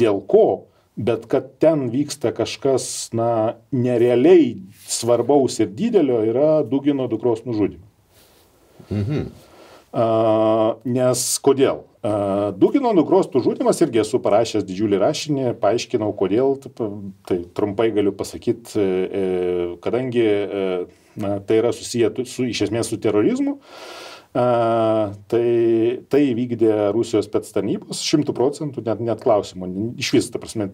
dėl ko, bet kad ten vyksta kažkas, na, nerealiai svarbaus ir didelio, yra Dugino dukros nužudymas. Nes kodėl? Dugino dukros nužudymas, irgi esu parašęs didžiulį rašinį, paaiškinau kodėl, tai trumpai galiu pasakyti, kadangi tai yra susiję iš esmės su terorizmu, tai vykdė Rusijos spectarnybos 100%, net klausimų, iš vis, ta prasme,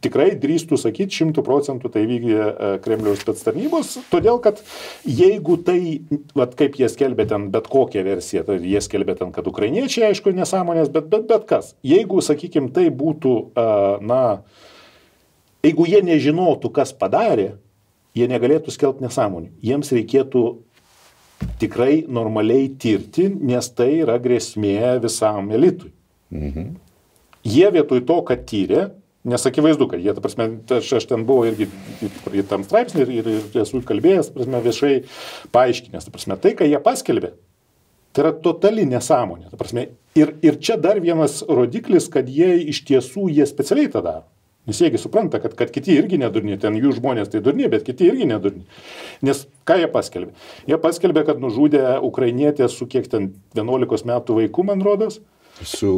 tikrai drįstų sakyti 100% tai vykdė Kremliaus spectarnybos, todėl kad jeigu tai, vat, kaip jie skelbė ten bet kokią versiją, tai jie skelbė ten, kad ukrainiečiai, aišku, nesąmonės, bet kas, jeigu, sakykime, tai būtų, jeigu jie nežinotų, kas padarė, jie negalėtų skelbti nesąmonių, jiems reikėtų tikrai normaliai tirti, nes tai yra grėsmė visam elitui. Jie vietoj to, kad tyrė, nes akivaizdu, kad jie, ta prasme, aš ten buvau irgi tam straipsnį ir esu kalbėjęs, ta prasme, viešai paaiškinęs, ta prasme, tai, ką jie paskelbė, tai yra totali nesąmonė. Ta prasme, ir čia dar vienas rodiklis, kad jie iš tiesų, jie specialiai tą daro. Nes jiegi supranta, kad kiti irgi nedurni, ten jų žmonės tai durni, bet kiti irgi nedurni. Nes ką jie paskelbė? Jie paskelbė, kad nužudė ukrainietę su kiek ten 11 metų vaikų, man rodos. Su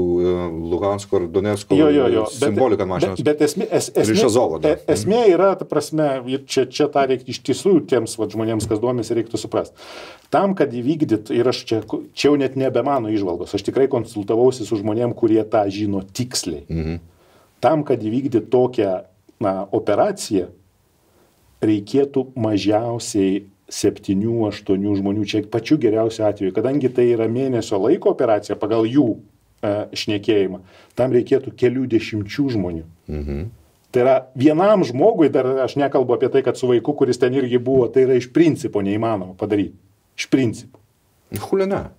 Lugansko ir Donetsko simbolika mašinos. Bet esmė yra, ta prasme, čia tą reikia iš tiesų tiems žmonėms, kas domisi, reiktų suprasti. Tam, kad įvykdyt, ir aš čia jau net nebe mano įžvalgos, aš tikrai konsultavausi su žmonėm, kurie tą žino tiksliai. Tam, kad įvykdyti tokią operaciją, reikėtų mažiausiai 7-8 žmonių, čia pačiu geriausiu atveju, kadangi tai yra mėnesio laiko operacija pagal jų šnekėjimą, tam reikėtų kelių dešimčių žmonių. Tai yra vienam žmogui, dar aš nekalbu apie tai, kad su vaiku, kuris ten irgi buvo, tai yra iš principo neįmanoma padaryti. Iš principo. Huliana.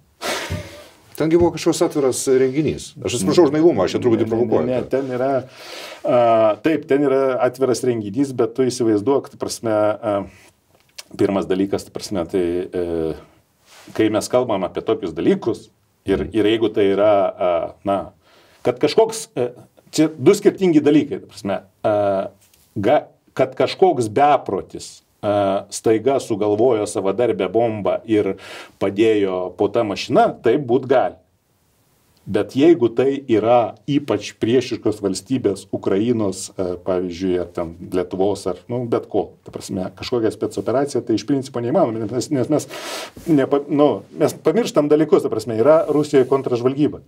Tengi buvo kažkoks atviras renginys. Aš atsiprašau už naivumą, aš čia truputį provokuoju. Ne, ten yra, taip, ten yra atviras renginys, bet tu įsivaizduok, ta prasme, pirmas dalykas, ta prasme, tai kai mes kalbam apie tokius dalykus ir jeigu tai yra, kad kažkoks, čia du skirtingi dalykai, ta prasme, kad kažkoks beprotis staiga sugalvojo savadarbę bombą ir padėjo po tą mašiną, tai būt gali. Bet jeigu tai yra ypač priešiškos valstybės, Ukrainos, pavyzdžiui, ar ten Lietuvos, ar bet ko, ta prasme, kažkokia specoperacija, tai iš principo neįmanoma, nes mes pamirštam dalykus, ta prasme, yra Rusijoje kontražvalgyba.